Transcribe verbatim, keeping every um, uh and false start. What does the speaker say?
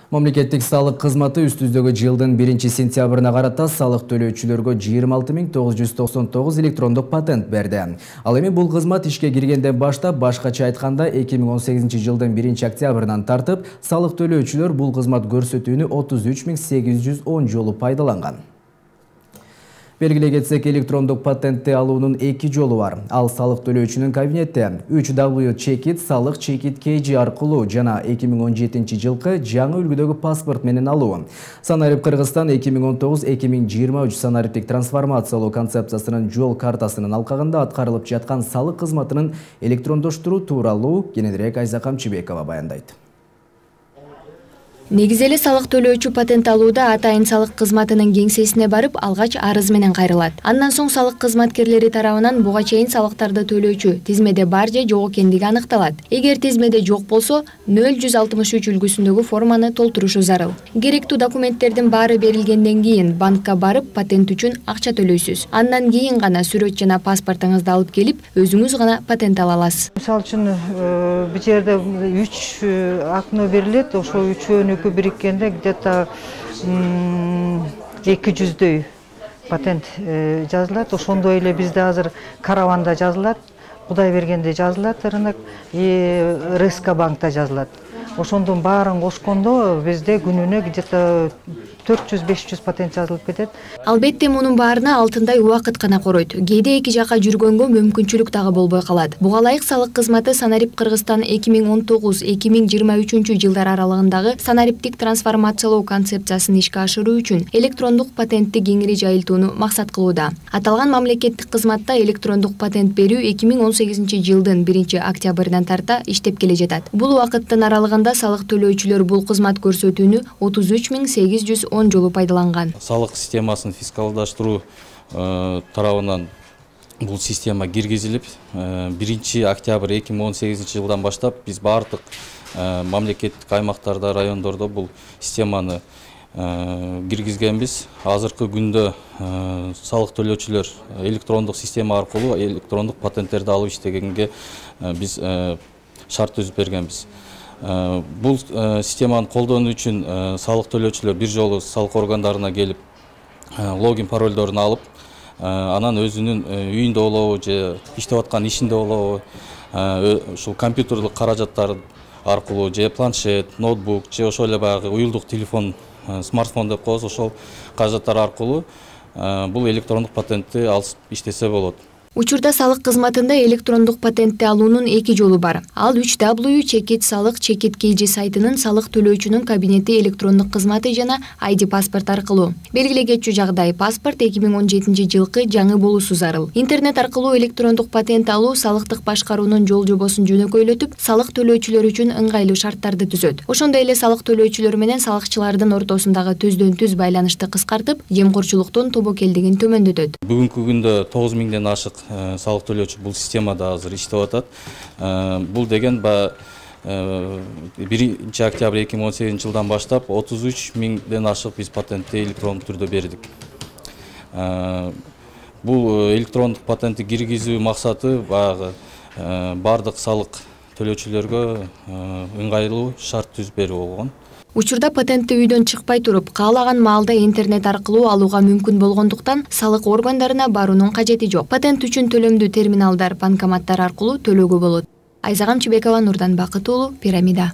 Мамлекеттик салык кызматы үстүздөгү жылдын биринчи сентябрына карата салык төлөөчүлөргө жыйырма алты миң тогуз жүз токсон тогуз электрондук патент берди. Ал эми бул кызмат ишке киргенден баштап, башкача айтканда эки миң он сегизинчи жылдын биринчи октябрынан тартып, салык төлөөчүлөр бул кызмат көрсөтүүнү отуз үч миң сегиз жүз он жолу пайдаланган. Белгилей кетсек, электрондук патентти алуунун эки жолу бар. Ал салык төлөөчүнүн кабинетте үч дабл ю чекит салык чекит кей жи аркылуу жана эки миң он жетинчи жылкы жаңы үлгүдөгү паспорт менен алуу. Санарип Кыргызстан эки миң он тогуз эки миң жыйырма үч санариптик трансформациялоо концепциясынын жол картасынын алкагында аткарылып жаткан салык кызматынын электрондоштуруу тууралуу кененирээк Айза Камчыбекова баяндайт. Негизи эле салык төлөөчү патент алууда атайын салык кызматынын кеңсесине барып, алгач арыз менен кайрылат. Андан соң салык кызматкерлери тарабынан буга чейин салыктарды төлөөчү тизмеде бар же жок экендиги аныкталат. Эгер тизмеде жок болсо, нөл жүз алтымыш үч үлгүсүндөгү форманы толтурушу зарыл. Керектүү документтердин баары берилгенден кийин банкка барып патент үчүн акча төлөйсүз. Андан кийин гана сүрөт жана паспортуңузду алып келип, өзүңүз гана патент ала аласыз. Мисалы үчүн бул жерде үч акно берилет, ошо үчөөнү бириккенде где-то эки жүздөй патент жазылат. Ошондой эле бизде азыр Караванда жазылат, Кудай бергенде жазылат, рынок и РСК банкта жазылат. Ошондун баарын кошкондо бизде күнүнө где-то төрт жүз беш жүз патент жазылып кетет. Албетте мунун баарына алтындай убакыт гана коройт. Кээде эки жака жүргөнгө мүмкүнчүлүк дагы болбой калат. Буга ылайык салык кызматы Санарип Кыргызстан эки миң он тогуз эки миң жыйырма үчүнчү жылдар аралыгындагы санариптик трансформациялоо концепциясын ишке ашыруу үчүн электрондук патентти кеңири жайылтууну максат кылууда. Аталган мамлекеттик кызматта электрондук патент берүү эки миң он сегизинчи жылдын биринчи октябрынан тарта иштеп келе жатат. Бул убакыттын аралыгында салык төлөөчүлөр бул кызмат көрсөтүүнү отуз үч миң сегиз жүз он жолу пайдаланган. Салык системасын фискалдаштыруу тарабынан бул система киргизилип, биринчи октябрь эки миң он сегизинчи жылдан баштап биз бардык мамлекеттик аймактарда, райондордо бул системаны киргизгенбиз. Азыркы күндө салык төлөөчүлөр электрондук система аркылуу электрондук патенттерди алып иштегенге биз шарт түзүп бергенбиз. Бул системаны колдонуу үчүн салык төлөөчүлөр бир жолу салык органдарына келип логин паролдорун алып, анан өзүнүн үйүндө болобу же иштеп аткан ишинде болобу, ушул компьютерлык каражаттар аркылуу же планшет, ноутбук же ошол эле баягы уюлдук телефон, смартфон деп коебуз, ошол каражаттар аркылуу бул электрондук патентти алып иштесе болот. Учурда салык кызматында электрондук патентти алуунун эки жолу бар. Ал үч дабл ю чекит салык чекит кей жи сайтынын салык төлөөчүнүн кабинети электрондук кызматы жана ай ди паспорт аркылуу. Белгилей кетчү жагдай, паспорт эки миң он жетинчи жылкы жаңы болуусу зарыл. Интернет аркылуу электрондук патент алуу салыктык башкаруунун жол жобосун жөнөкөйлөтүп, салык төлөөчүлөр үчүн ыңгайлуу шарттарды түзөт. Ошондой эле салык төлөөчүлөр менен салыкчылардын ортосундагы түздөн түз байланышты кыскартып, жемкорчулуктун тобокелдигин төмөндөтөт. Бүгүнкү күндө тогуз миңден ашык салык төлөөчү бул системада азыр иштеп атат. Бул деген биринчи октябрь эки миң он сегизинчи жылдан баштап отуз үч миңден ашык биз патентти электрондук түрдө бердик. Бул электрондук патентти киргизүү максаты баягы бардык салык төлөөчүлөргө ыңгайлуу шарт түзүп берүү болгон. Учурда патентти үйдөн чыкпай туруп, каалаган маалда интернет аркылуу алууга мүмкүн болгондуктан салык органдарына баруунун кажети жок. Патент үчүн төлөмдүү терминалдар, банкоматтар аркылуу төлөөгө болот. Айза Камчыбекова, Нурдан Бакыт уулу, Пирамида.